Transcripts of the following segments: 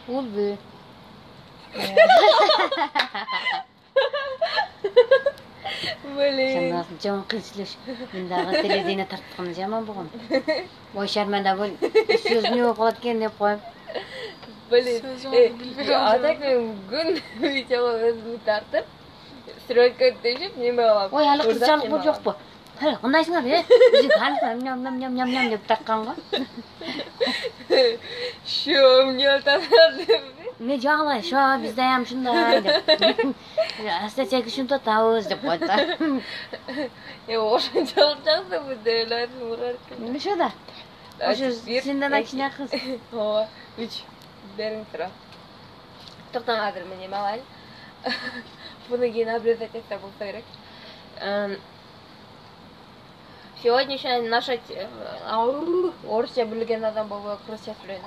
Улбу. Блин. Жаман кыйынчылык. Мен дагы телевидение тартканы жаман болгон. Ой шарманда бул сөз не болуп калат экен деп коем. Блин. Атак мен күн видеого өзүмү тартып, стройка түшүп, неме кылам. Ой, алы кызчалык бул жокпу? Кандайсыңар, Биз ням деп таккан го. Шо, эмне атасыңар деп. Мен жагылай, шо, биз дайым ушундай деп. Астачек ушинтип атабыз деп койду да. Ошончолук жаксы бу делерин урар экен. Ошо да. Ошо сенден кичине кыз. Ооба, 3 бериң тура. Токтоң азыр мен эме алайын. Буну кийин обрезать этсе болсо керек. Сегодняшняя наша орусча билген адам болбой кыргызча сүйлөйм.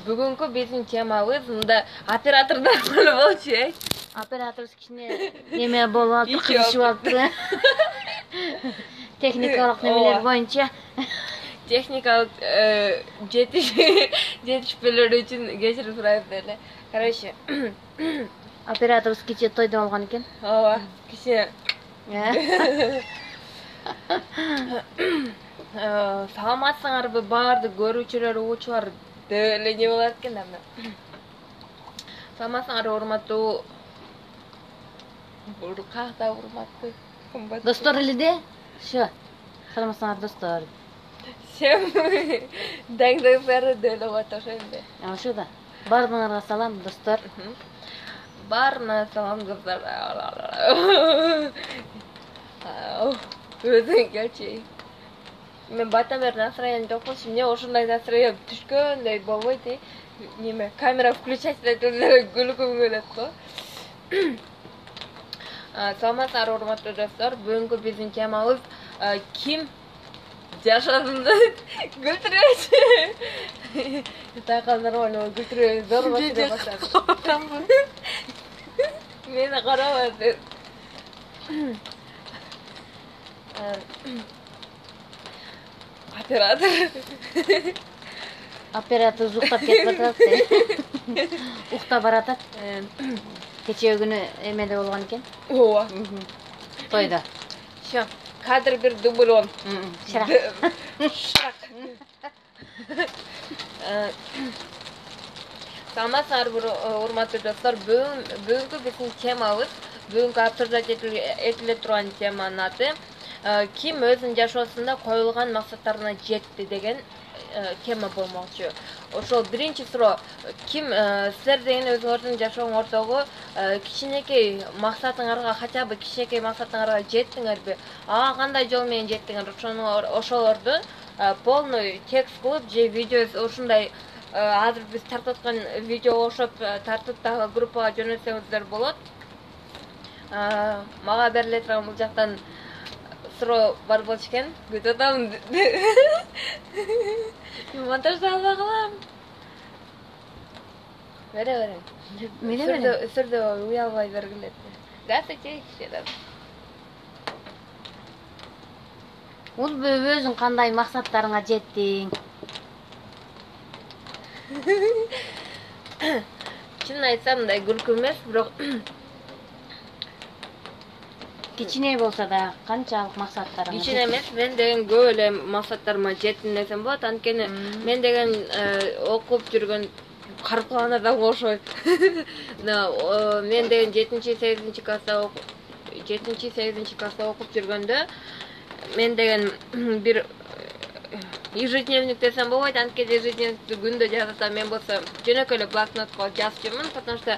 Бүгүнкү биздин темабыз мында оператордор болчу, Оператор кичине неме болуп атты, кызышып атты. Техникалык немелер боюнча. Техникалык жетишпелер үчүн кечирим сурайт эле. Короче, Оператор кичи тойдо болгон экен. Ооба, кичи. Саламатсыңарбы баардык көрүүчүлөр, угуучулар деп эле не болот экен да. Саламатсыңар урматтуу. Бул ката урматтуу. Достор эле де. Шо. Саламатсыңар достор. Сен даңдайсары деле отошенде. Ошо да. Баарыңарга салам достор. Баарына салам кыздар. Өзүң келчи. Мен бата бер настроение жок болчу. Эмне ошондой настроение түшкөндөй болбойт, неме камера включать этип күлгүм келет го. Саламатсыңар урматтуу достор. Бүгүнкү биздин темабыз ким жашадымды күлтүрөчү. Такандар ойноо күлтүрөчү зор башыра баштады. Мени карабады. Оператор уктап кетип атат. Уктап баратат. Кечээ күнү эмеде болгон экен. Ооба. Тойдо. Шо, кадр бир дублон. Шырак. Саламатсыңар урматтуу достор. Бүгүнкү биздин темабыз, бүгүнкү обсуждать этиле турган теманын аты ким өзүнүн жашоосунда коюлган максаттарына жетти деген тема болмокчу. Ошол биринчи суроо, ким силер деген өзүңөрдүн жашооңордогу кичинекей максатыңарга, хотя бы кичинекей максатыңарга жеттиңерби? Ага кандай жол менен жеттиңер? Ошолорду полный текст кылып же видео ушундай азыр биз тартып аткан видеого окшоп тартып дагы группага жөнөтсөңүздөр болот. Мага бериле турган бул жактан суроо бар болчу экен. Күтүп атам. Монтажда албай калам. Бере. Сүрдө уялбай бергиле. Здравствуйте, дедим. Ул өзүң кандай максаттарыңа жеттиң? Чынын айтсам, мындай күлкү эмес, бирок кичине болсо да канчалык максаттарыңа? Кичине эмес, мен деген көп эле максаттарыма жеттим десем болот. Анткени мен деген окуп жүргөн карпалан адамга окшойт. Мен деген 7-8 класста окуп жүргөндө мен деген бир ежедневник десем болбойт, анткени ежедневникти күндө жазып атам. Мен болсо жөнөкөй эле блокнотко жазып жүрмүн, потому что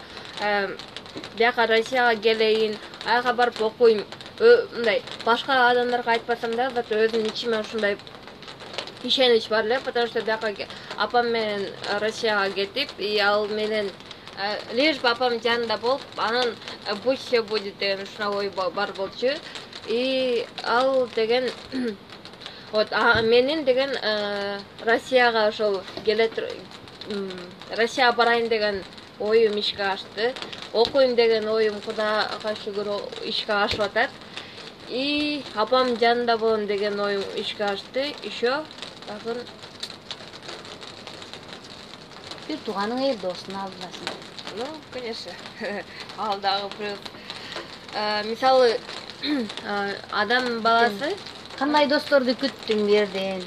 бияка Россияга келейин, аяка барып окуйм. Мындай башка адамдарга айтпасам да, өзүмдүн ичиме ушундай ишенич бар эле, потому что бияка апам менен Россияга кетип, ал менен лишь бы апам жанында болуп, анан будь все будет деген ушундай ой бар болчу. И ал деген вот менин деген Россияга ошол Россияга барайын деген оюм ишке ашты. Окуйм деген оюм Кудайга шүгүр ишке ашып атат. И апам жанында болом деген оюм ишке ашты. Еще Бир тууганың эл досун алдырасың. Ну, конечно. Ал дагы плюс. Мисалы, адам баласы Кандай досторду күттүң бу жерден?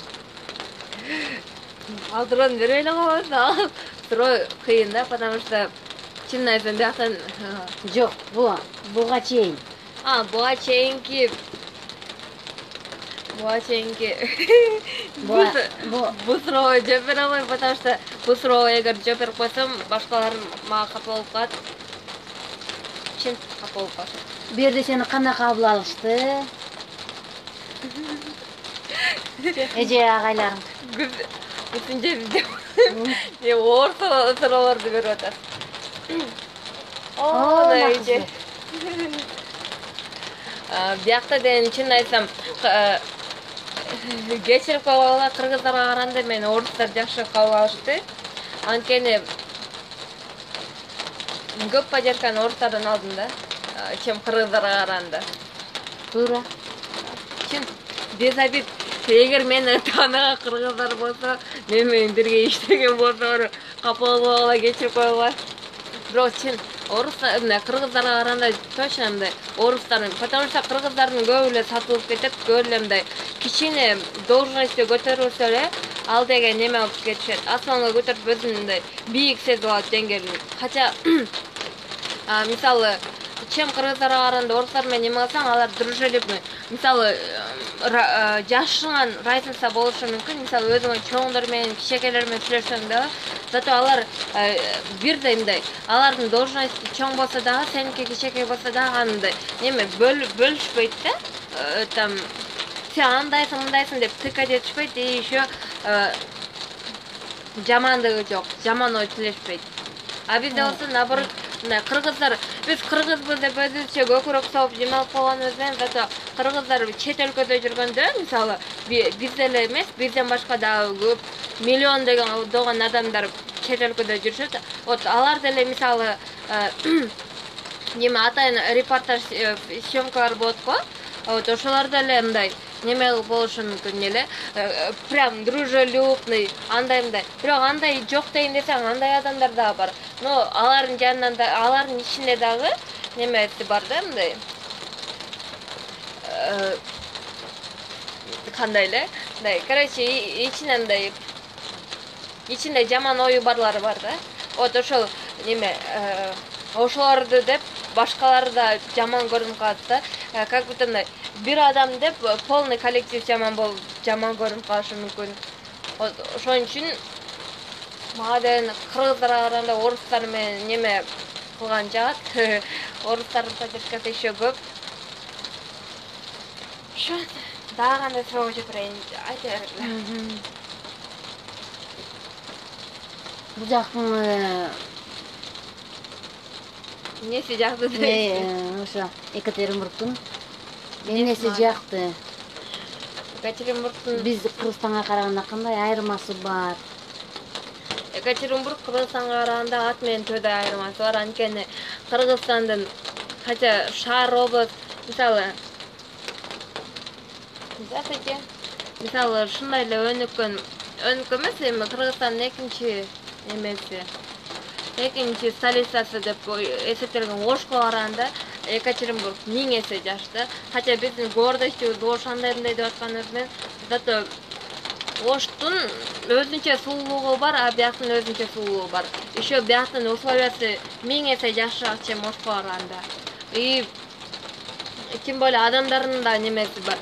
алдыран бербей эле коебуз. Ал суроо кыйын да, потому что чынын айтсам бияктан Жок, буга чейин. буга чейинки бул суроого жооп бере албайм, потому что бул суроого эгер жооп берип койсом, башкалар мага капа болуп калат. Чын капа болуп калат. Бу жерде сени кандай кабыл алышты? Эже агайларың. Бүтүн жерде оор суроолорду берип атат. Эже. Биякта деген чын айтсам кечирип койгула, кыргыздарга караганда мен орустар жакшы кабыл алышты. Анткени көп поддержканы орустардан алдым да, чем кыргыздарга караганда. Туура. Чын без обид. Эгер мени тааныган кыргыздар болсо, мен менен бирге иштеген болсо, капа болбогула, кечирип койгула. Бирок чын орустар, кыргыздарга караганда точно мындай орустар, потому что кыргыздардын көбү эле сатылып кетет, көп эле мындай кичине должностьты көтөрүлсө эле, ал деген неме алып кетишет. Асманга көтөрүп өзүн мындай бийик сезип алат деңгээлин. Хотя мисалы чем кыргыздарга караганда орустар менен неме кылсаң, алар дружелюбный. Мисалы жашыңан разница болушу мүмкүн. Мисалы өзүңө чоңдор менен, кичекейлер менен сүйлөшсөң дагы, зато алар бирдей мындай. Алардын должности чоң болсо дагы, сеники кичекей болсо дагы андай неме бөлүшпөйт да. Там сен андайсың, мындайсың деп тыкать этишпейт, и еще жамандыгы жок, жаман ой тилешпейт. А бизде болсо наоборот, кыргыздар, биз кыргызбыз деп өзүбүзчө көкүрөк соуп жемелип койгонубуз менен, зато кыргыздар чет өлкөдө жүргөндө, мисалы, биз эле эмес, бизден башка дагы көп миллион деген адамдар чет өлкөдө жүрүшөт. Вот алар деле мисалы неме атайын репортаж съемкалар болот го. Вот ошолор деле мындай неме болушу мүмкүн эле, прям дружелюбный, андай. Бирок андай жок дейин десең, андай адамдар дагы бар. Но алардын жанынан да, алардын ичинде дагы немеси бар да, мындай. Кандай эле? Мындай, короче, ичинде жаман ою барлары бар да. Вот ошол неме, ошолорду деп башкалар да жаман көрүнүп калат да. Как будто мындай бир адам деп полный коллектив жаман көрүнүп калышы мүмкүн. Ошон үчүн мага деген кыргыздарга караганда орустар менен неме кылган жагат. Орустардын поддержкасы еще көп. Ошо дагы кандай суроо жооп берейин, айта бергиле. Бул жактын эмнеси жакты дейсиз? Ошо Екатеринбургдун эмнеси жакты? Екатеринбургдун Биз Кыргызстанга караганда кандай айырмасы бар? Екатеринбург Кыргызстанга караганда ат менен төдөй айырмасы бар. Анткени Кыргызстандын хотя шаар область, мисалы ушундай эле өнүккөн эмес, эми Кыргызстандын экинчи столицасы деп эсептелген Ошко караганда Екатеринбург 1000 эсе жашты. Хотя биздин гордостьубуз Ош андай деп атканыбыз менен, зато Оштун өзүнчө сулуулугу бар, а бияктын өзүнчө сулуулугу бар. Еще бияктын условиясы 1000 эсе жакшыраак, чем Ошко караганда. И тем более адамдардын да немеси бар.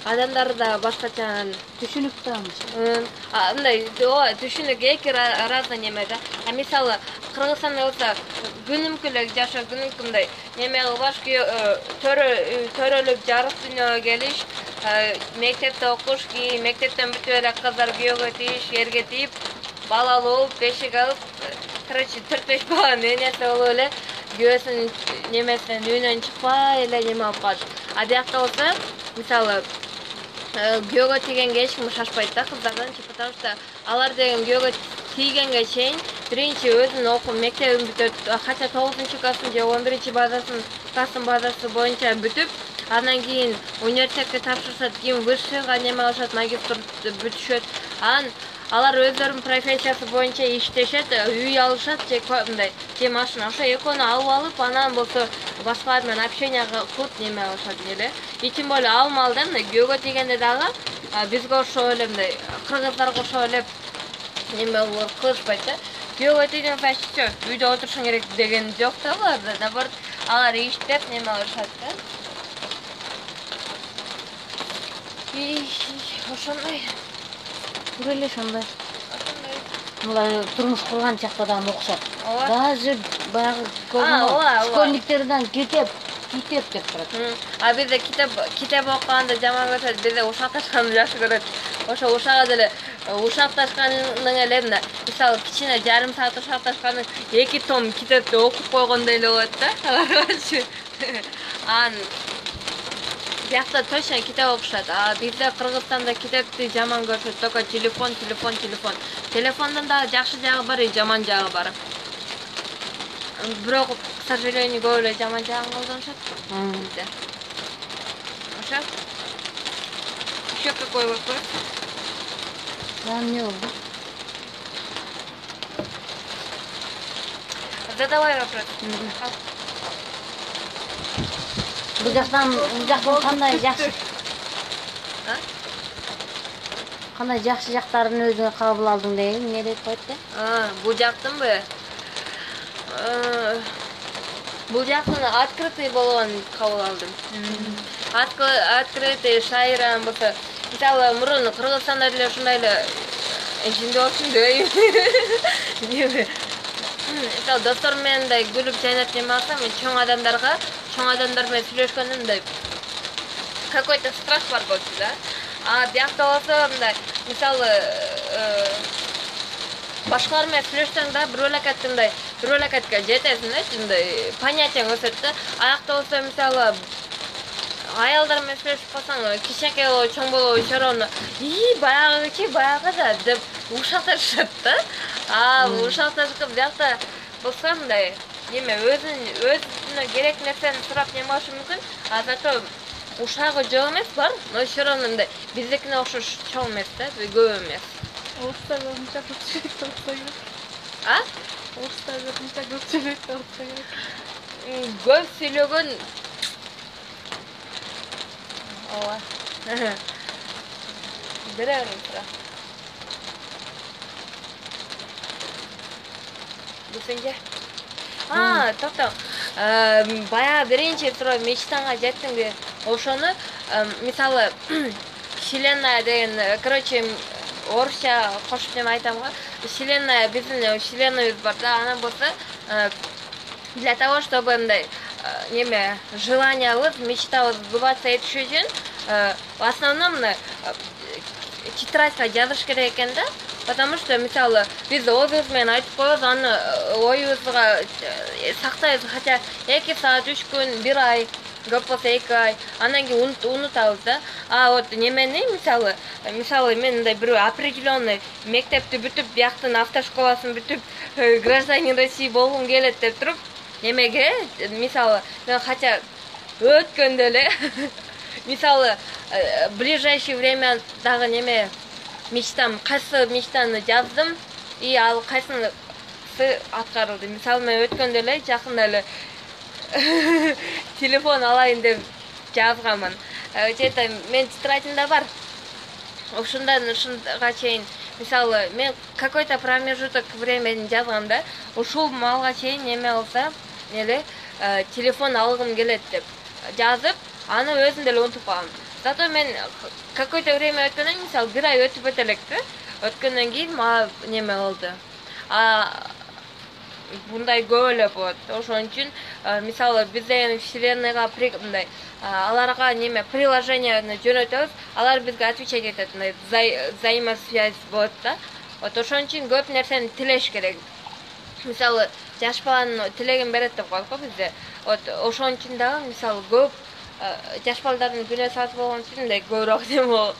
Адамдар да башкача Түшүнүп турабыз. Мындай, түшүнүк эки разный неме да. Мисалы Кыргызстанда болсо күнүмкүлүк жашоо, күнүмкү мындай неме кылбаш, төрөлүп жарык дүйнөгө келиш, мектепте окуш, мектептен бүтүп эле кыздар күйөөгө тийиш, эрге тийип, бала алып, бешик алып, короче 4-5 баланын энеси болуп эле күйөөсүнүн немесинен үйүнөн чыкпай эле неме алып калат. А биякта болсо, мисалы күйөөгө тийгенге эч ким шашпайт да кыздардан, потому что алар деген күйөөгө тийгенге чейин биринчи өзүнүн окуу мектебин бүтөт, хотя 9-классын же 11-классын базасы боюнча бүтүп, андан кийин университетке тапшырышат, кийин высшийга неме алышат, магистр бүтүшөт. Анан алар өздөрүнүн профессиясы боюнча иштешет, үй алышат же машина. Ошо экөөнү алып алып, анан болсо башкалар менен общение кылып неме алышат эле. И тем более ал малда күйөөгө тийгенде дагы бизге ошо эле мындай кыргыздарга ошо эле неме кылышпайт да. Күйөөгө тийген значит всё, үйдө отурушуң керек деген жок да буларда. Наоборот, алар иштеп неме алышат да. Ошондой. Эле ошондой. Булар турмуш курган чакта да окшот. Даже баягы школьниктерден китеп деп турат. А бизде китеп окуганды жаман көрсөт, бизде ушакташканды жакшы көрөт. Ошо ушага деле ушакташкандын эле мисалы кичине жарым саат ушакташкандын 2 том китепти окуп койгондой эле болот да. Биякта точно китеп окушат. А бизде Кыргызстанда китепти жаман көрүшөт, только телефон. Телефондун да жакшы жагы бар, жаман жагы бар. Бирок, к сожалению, көп эле жаман жагын колдонушат. Ошо. Ещё какой вопрос? Не oldu? Задавай вопрос. Бул жактан кандай жакшы? Кандай жакшы жактарын өзүңө кабыл алдың дейм, эмне деп коет да? Бул жактынбы? Бул жактын открытый болгонун кабыл алдым. Открытый шайран болсо, мисалы мурун Кыргызстанда деле ушундай эле жинде болчун дейм. Мисалы достор менен да күлүп жайнап неме алсам, мен чоң адамдар менен сүйлөшкөндө мындай какой-то страх бар болчу да. А биякта болсо мындай, мисалы башкалар менен сүйлөшсөң да бир бөлөкөткө жетесиң да, мындай понятияң өсөт да. Аякта болсо мисалы аялдар менен сүйлөшүп калсаң, кичинекей болобу, чоң болобу, чорону, баягы да деп ушакташат да. Ушакташып биякта болсо мындай неме өзүнө керек нерсени сурап неме болушу мүмкүн. А зато ушагы жок эмес бар, но чорону мындай биздикине окшош чоң эмес да, көп эмес. Орустар мынча көп сөйлөйт болсо керек. Орустар мынча көп сөйлөйт болсо керек. Көп сүйлөгөн ооба. Бере берем тура. Бусенге. Токто. Бая биринчи суроо мечтаңа жеттиңби? Ошону мисалы Вселенная деген, короче, орусча кошуп неме айтам го. Вселенная, биздин вселенныйыбыз бар да, анан болсо для того, чтобы мындай неме желаниябыз, мечтабыз сбываться этиш үчүн в основном тетрадька жазыш керек экен да. Потому что мисалы биз өзүбүз менен айтып коебуз, аны оюбузга сактайбыз, хотя 2 саат, 3 күн, 1 ай, көп болсо 2 ай, анан кийин унутабыз да. А вот немени мисалы мен мындай бир определенный мектепти бүтүп, бияктын автошколасын бүтүп, гражданин России болгум келет деп туруп, немеге мисалы мен хотя өткөндө эле мисалы ближайшее время дагы неме кайсы мечтаны жаздым, и ал кайсынысы аткарылды. Мисалы мен өткөндө эле жакында эле телефон алайын деп жазганмын. Жета мен тетрадьымда бар. Ушунга чейин мисалы мен какой-то промежуток времени жазгам да. Ушул малга чейин неме болсо, телефон алгым келет деп жазып, аны өзүм деле унутуп калгам. Зато мен какой-то время өткөндөн, мисалы 1 ай өтүп элек да. Өткөндөн кийин мага неме болду. Мындай көп эле болот. Ошон үчүн мисалы биз деген вселенныйга мындай аларга неме приложениени жөнөтөбүз, алар бизге отвечать этет, мындай взаимосвязь болот да. Вот ошон үчүн көп нерсени тилеш керек. Мисалы жаш баланын тилегин берет деп коет го бизде. Вот ошон үчүн дагы мисалы көп жаш балдардын күнөөсү аз болгон үчүн мындай көбүрөөк неме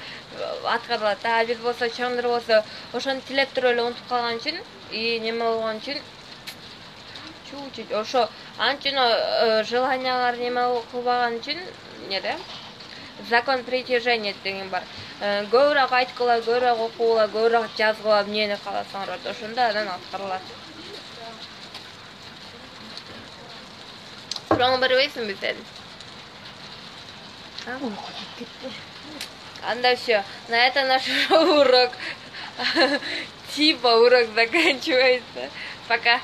аткарылат да. А биз болсо чоңдор болсо ошону тилеп туруп эле унутуп калган үчүн и неме болгон үчүн ошо анчын желаниялар неме кылбаган үчүн закон притяжения деген бар. Көбүрөөк айткыла, көбүрөөк окугула, көбүрөөк жазгыла, эмнени кааласаңар, ошондо анан аткарылат. Сурооңду бербейсиңби сен? Uyku ketти. Анда все. На это наш урок типа урок заканчивается. Пока.